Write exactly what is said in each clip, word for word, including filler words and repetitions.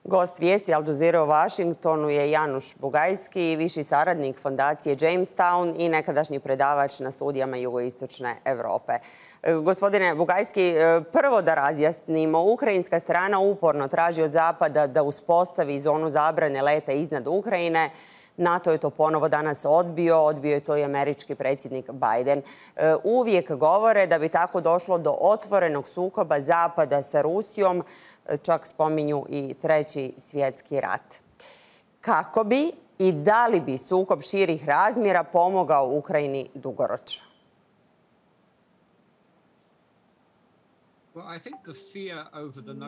Gost vijesti Al Jazeera u Vašingtonu je Januš Bugajski, viši saradnik fondacije Jamestown i nekadašnji predavač na studijama jugoistočne Evrope. Gospodine Bugajski, prvo da razjasnimo, ukrajinska strana uporno traži od Zapada da uspostavi zonu zabrane leta iznad Ukrajine. NATO je to ponovo danas odbio, odbio je to i američki predsjednik Biden. Uvijek govore da bi tako došlo do otvorenog sukoba Zapada sa Rusijom, čak spominju i treći svjetski rat. Kako bi i da li bi sukob širih razmjera pomogao Ukrajini dugoročno?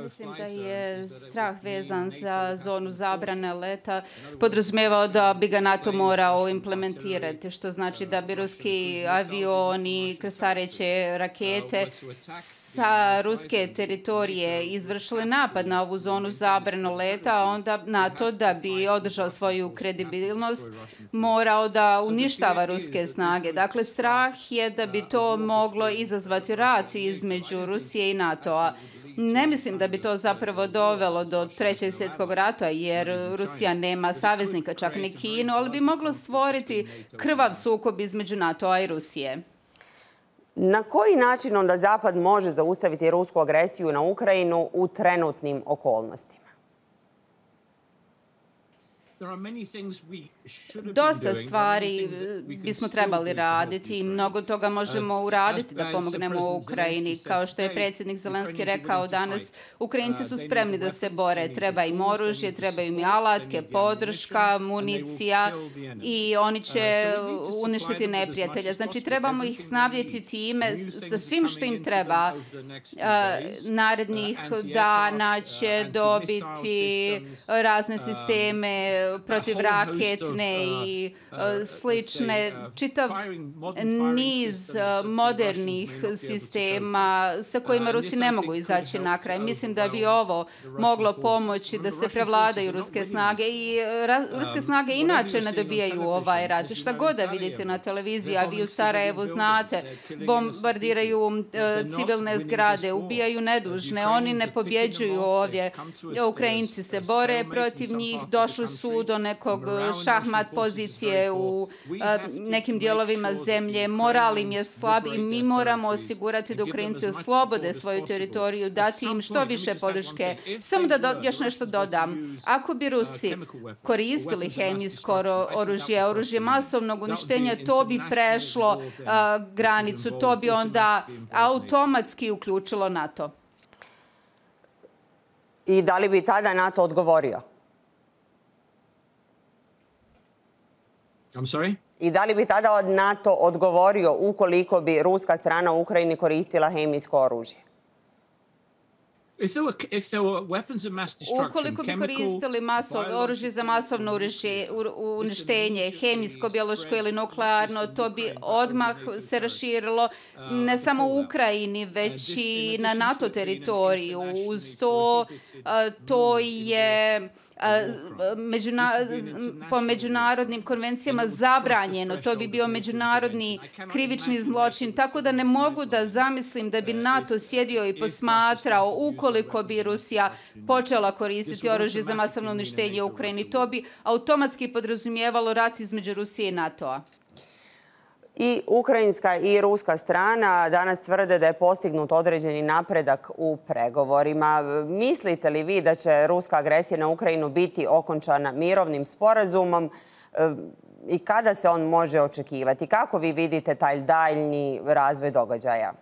Mislim da je strah vezan za zonu zabrane leta podrazumijevao da bi ga NATO morao implementirati, što znači da bi ruski avioni, krstareće rakete sa ruske teritorije izvršili napad na ovu zonu zabranu leta, a onda NATO, da bi održao svoju kredibilnost, morao da uništava ruske snage. Dakle, strah je da bi to moglo izazvati rat između Rusije i NATO-a. Ne mislim da bi to zapravo dovelo do trećeg svjetskog rata, jer Rusija nema saveznika, čak ni Kinu, ali bi moglo stvoriti krvav sukob između NATO-a i Rusije. Na koji način onda Zapad može zaustaviti rusku agresiju na Ukrajinu u trenutnim okolnostima? Dosta stvari bismo trebali raditi i mnogo toga možemo uraditi da pomognemo Ukrajini. Kao što je predsjednik Zelenski rekao danas, Ukrajinci su spremni da se bore. Treba im oružje, treba im alatke, podrška, municija i oni će uništiti neprijatelja. Znači, trebamo ih snabdjeti time sa svim što im treba. Narednih dana će dobiti razne sisteme protivraketne i slične, čitav niz modernih sistema sa kojima Rusi ne mogu izaći na kraj. Mislim da bi ovo moglo pomoći da se prevladaju ruske snage i ruske snage inače ne dobijaju ovaj rat. Šta god da vidite na televiziji, a vi u Sarajevu znate, bombardiraju civilne zgrade, ubijaju nedužne, oni ne pobjeđuju ovdje. Ukrajinci se bore protiv njih, došli su do nekog šahmat pozicije u nekim dijelovima zemlje. Moral im je slab i mi moramo osigurati da Ukrajinci oslobode svoju teritoriju, dati im što više podrške. Samo da do, još nešto dodam. Ako bi Rusi koristili hemijsko oružje, oružje masovnog uništenja, to bi prešlo a, granicu, to bi onda automatski uključilo NATO. I da li bi tada NATO odgovorio? I'm sorry? I da li bi tada NATO odgovorio ukoliko bi ruska strana u Ukrajini koristila hemijsko oružje? Ukoliko bi koristili oružje za masovno uništenje, hemijsko, biološko ili nuklearno, to bi odmah se raširilo ne samo u Ukrajini, već i na NATO teritoriju. Uz to, to je Međuna, po međunarodnim konvencijama zabranjeno. To bi bio međunarodni krivični zločin. Tako da ne mogu da zamislim da bi NATO sjedio i posmatrao ukoliko bi Rusija počela koristiti oružje za masovno uništenje u Ukrajini. To bi automatski podrazumijevalo rat između Rusije i NATO-a. I ukrajinska i ruska strana danas tvrde da je postignut određeni napredak u pregovorima. Mislite li vi da će ruska agresija na Ukrajinu biti okončana mirovnim sporazumom i kada se on može očekivati? Kako vi vidite taj daljnji razvoj događaja?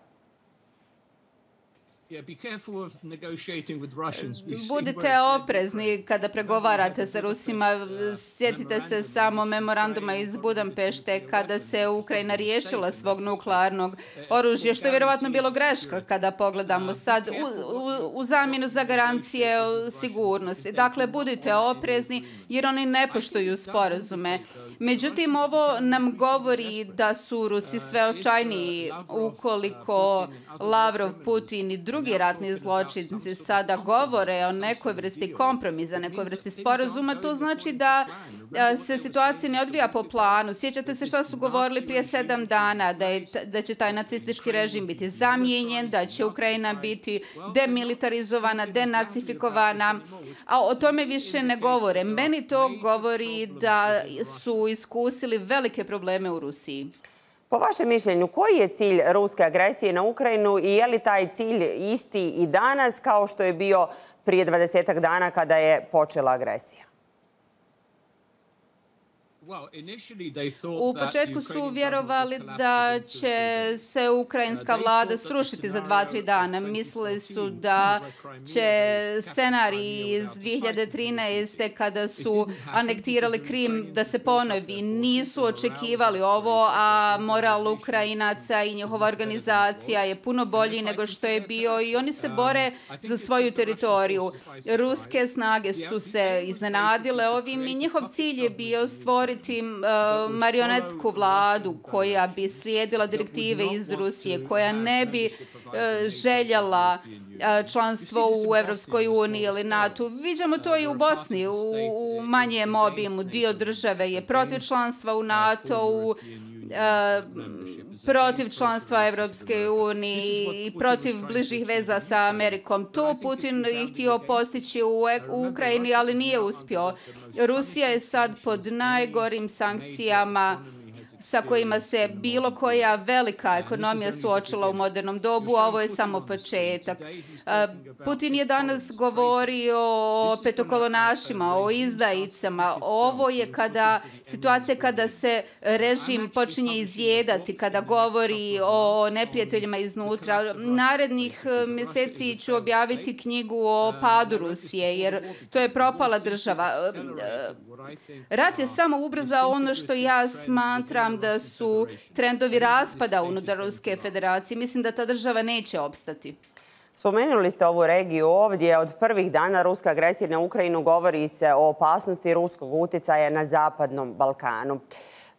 Budite oprezni kada pregovarate sa Rusima. Sjetite se samo memoranduma iz Budampešte kada se Ukrajina riješila svog nuklearnog oružja, što je vjerovatno bilo greška kada pogledamo sad u, u, u zamjenu za garancije sigurnosti. Dakle, budite oprezni jer oni ne poštuju sporazume. Međutim, ovo nam govori da su Rusi sve očajniji ukoliko Lavrov, Putin i drugi drugi ratni zločinci sada govore o nekoj vrsti kompromisa, nekoj vrsti sporazuma, to znači da se situacija ne odvija po planu. Sjećate se što su govorili prije sedam dana, da, je, da će taj nacistički režim biti zamijenjen, da će Ukrajina biti demilitarizovana, denacifikovana, a o tome više ne govore. Meni to govori da su iskusili velike probleme u Rusiji. Po vašem mišljenju, koji je cilj ruske agresije na Ukrajinu i je li taj cilj isti i danas kao što je bio prije dvadesetak dana kada je počela agresija? U početku su vjerovali da će se ukrajinska vlada srušiti za dva, tri dana. Mislili su da će scenarij iz dvije hiljade trinaeste. kada su anektirali Krim da se ponovi. Nisu očekivali ovo, a moral Ukrajinaca i njihova organizacija je puno bolji nego što je bio i oni se bore za svoju teritoriju. Ruske snage su se iznenadile ovim i njihov cilj je bio stvoriti marionetsku vladu koja bi slijedila direktive iz Rusije, koja ne bi željela članstvo u Evropskoj uniji ili NATO. Viđamo to i u Bosni, u manjem obimu. Dio države je protiv članstva u NATO-u, protiv članstva Evropske unije i protiv bližih veza sa Amerikom. To Putin je htio postići u Ukrajini, ali nije uspio. Rusija je sad pod najgorim sankcijama sa kojima se bilo koja velika ekonomija suočila u modernom dobu, a ovo je samo početak. Putin je danas govorio o petokolonašima, o izdajicama. Ovo je kada, situacija kada se režim počinje izjedati, kada govori o neprijateljima iznutra. Narednih mjeseci ću objaviti knjigu o padu Rusije, jer to je propala država. Rat je samo ubrzao ono što ja smatram da su trendovi raspada unutar Ruske federacije. Mislim da ta država neće opstati. Spomenuli ste ovu regiju ovdje. Od prvih dana ruske agresije na Ukrajinu govori se o opasnosti ruskog utjecaja na Zapadnom Balkanu.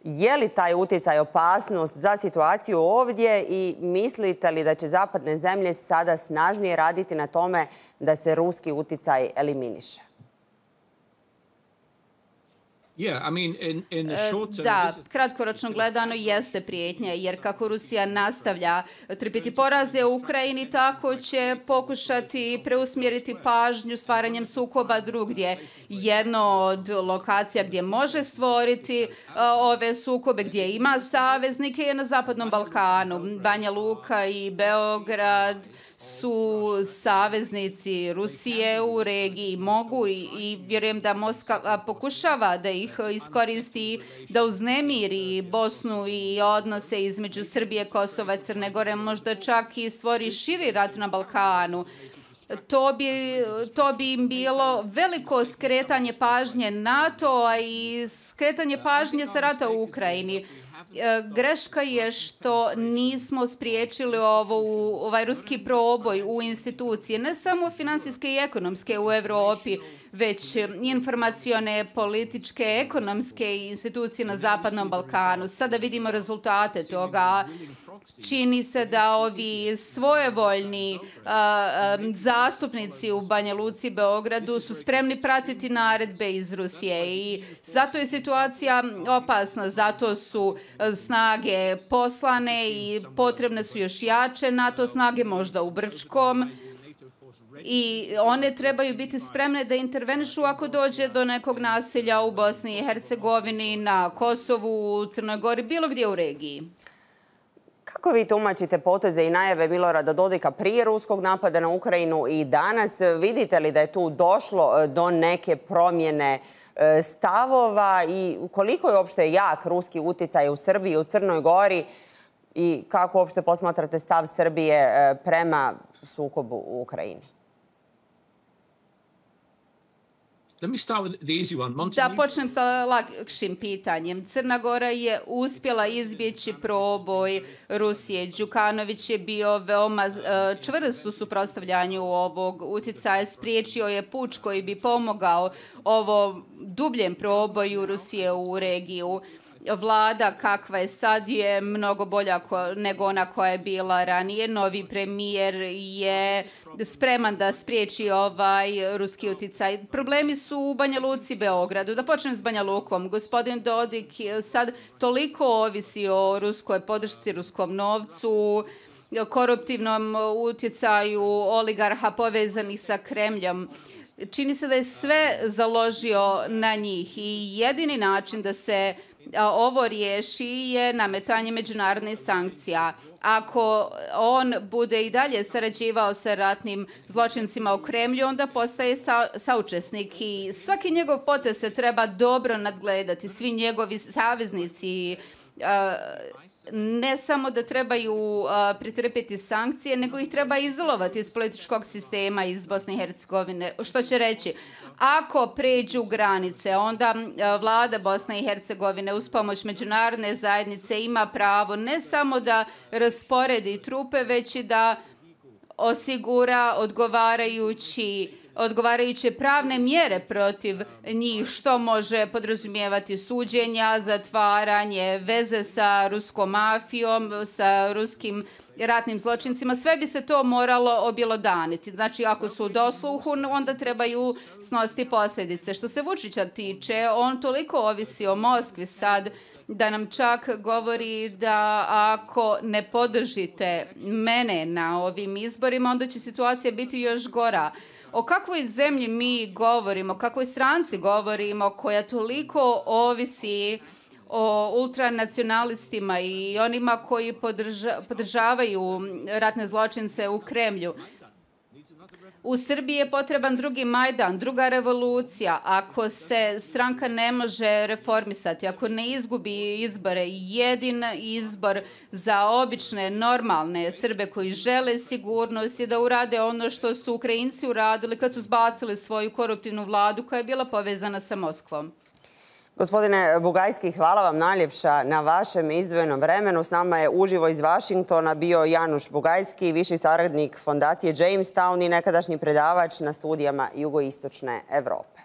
Je li taj utjecaj opasnost za situaciju ovdje i mislite li da će zapadne zemlje sada snažnije raditi na tome da se ruski utjecaj eliminiše? Da, kratkoročno gledano jeste prijetnja, jer kako Rusija nastavlja trpiti poraze u Ukrajini, tako će pokušati preusmjeriti pažnju stvaranjem sukoba drugdje. Jedno od lokacija gdje može stvoriti ove sukobe, gdje ima saveznike, je na Zapadnom Balkanu. Banja Luka i Beograd su saveznici Rusije u regiji. Mogu i, i vjerujem da Moskva pokušava da ih iskoristi da uznemiri Bosnu i odnose između Srbije, Kosova i Crne Gore, možda čak i stvori širi rat na Balkanu. To bi, to bi im bilo veliko skretanje pažnje NATO-a i skretanje pažnje sa rata u Ukrajini. Greška je što nismo spriječili ovo, ovaj ruski proboj u institucije, ne samo finansijske i ekonomske u Europi, već informacione, političke, ekonomske institucije na Zapadnom Balkanu. Sada vidimo rezultate toga. Čini se da ovi svojevoljni a, a, zastupnici u Banja Luci i Beogradu su spremni pratiti naredbe iz Rusije i zato je situacija opasna, zato su snage poslane i potrebne su još jače NATO snage, možda u Brčkom. I one trebaju biti spremne da intervenišu ako dođe do nekog nasilja u Bosni i Hercegovini, na Kosovu, u Crnoj Gori, bilo gdje u regiji. Kako vi tumačite poteze i najave Milorada Dodika prije ruskog napada na Ukrajinu i danas? Vidite li da je tu došlo do neke promjene stavova i koliko je uopšte jak ruski utjecaj u Srbiji i u Crnoj Gori i kako uopšte posmatrate stav Srbije prema sukobu u Ukrajini? Da počnem sa lakšim pitanjem. Crna Gora je uspjela izbjeći proboj Rusije. Đukanović je bio veoma čvrst u suprotstavljanju ovog utjecaja. Spriječio je puč koji bi pomogao ovom dubljem proboju Rusije u regiju. Vlada kakva je sad je mnogo bolja nego ona koja je bila ranije. Novi premijer je spreman da spriječi ovaj ruski uticaj. Problemi su u Banja Luci i Beogradu. Da počnem s Banja Lukom. Gospodin Dodik sad toliko ovisi o ruskoj podršci, ruskom novcu, koruptivnom utjecaju oligarha povezanih sa Kremljom. Čini se da je sve založio na njih i jedini način da se ovo riješi je nametanje međunarodnih sankcija. Ako on bude i dalje sarađivao sa ratnim zločincima u Kremlju, onda postaje sa, saučesnik i svaki njegov potez se treba dobro nadgledati. Svi njegovi saveznici ne samo da trebaju pretrpjeti sankcije, nego ih treba izolovati iz političkog sistema iz Bosne i Hercegovine. Što će reći? Ako pređu granice, onda vlada Bosne i Hercegovine uz pomoć međunarodne zajednice ima pravo ne samo da rasporedi trupe, već i da osigura odgovarajući odgovarajuće pravne mjere protiv njih, što može podrazumijevati suđenja, zatvaranje, veze sa ruskom mafijom, sa ruskim ratnim zločincima. Sve bi se to moralo objelodaniti. Znači, ako su u dosluhu, onda trebaju snositi posljedice. Što se Vučića tiče, on toliko ovisi o Moskvi sad da nam čak govori da ako ne podržite mene na ovim izborima, onda će situacija biti još gora. O kakvoj zemlji mi govorimo, o kakvoj stranci govorimo koja toliko ovisi o ultranacionalistima i onima koji podrža, podržavaju ratne zločince u Kremlju. U Srbiji je potreban drugi Majdan, druga revolucija. Ako se stranka ne može reformisati, ako ne izgubi izbore, jedin izbor za obične, normalne Srbe koji žele sigurnost je da urade ono što su Ukrajinci uradili kad su zbacili svoju koruptivnu vladu koja je bila povezana sa Moskvom. Gospodine Bugajski, hvala vam najljepša na vašem izdvojenom vremenu. S nama je uživo iz Vašingtona bio Januš Bugajski, viši saradnik fondacije Jamestown i nekadašnji predavač na studijama jugoistočne Evrope.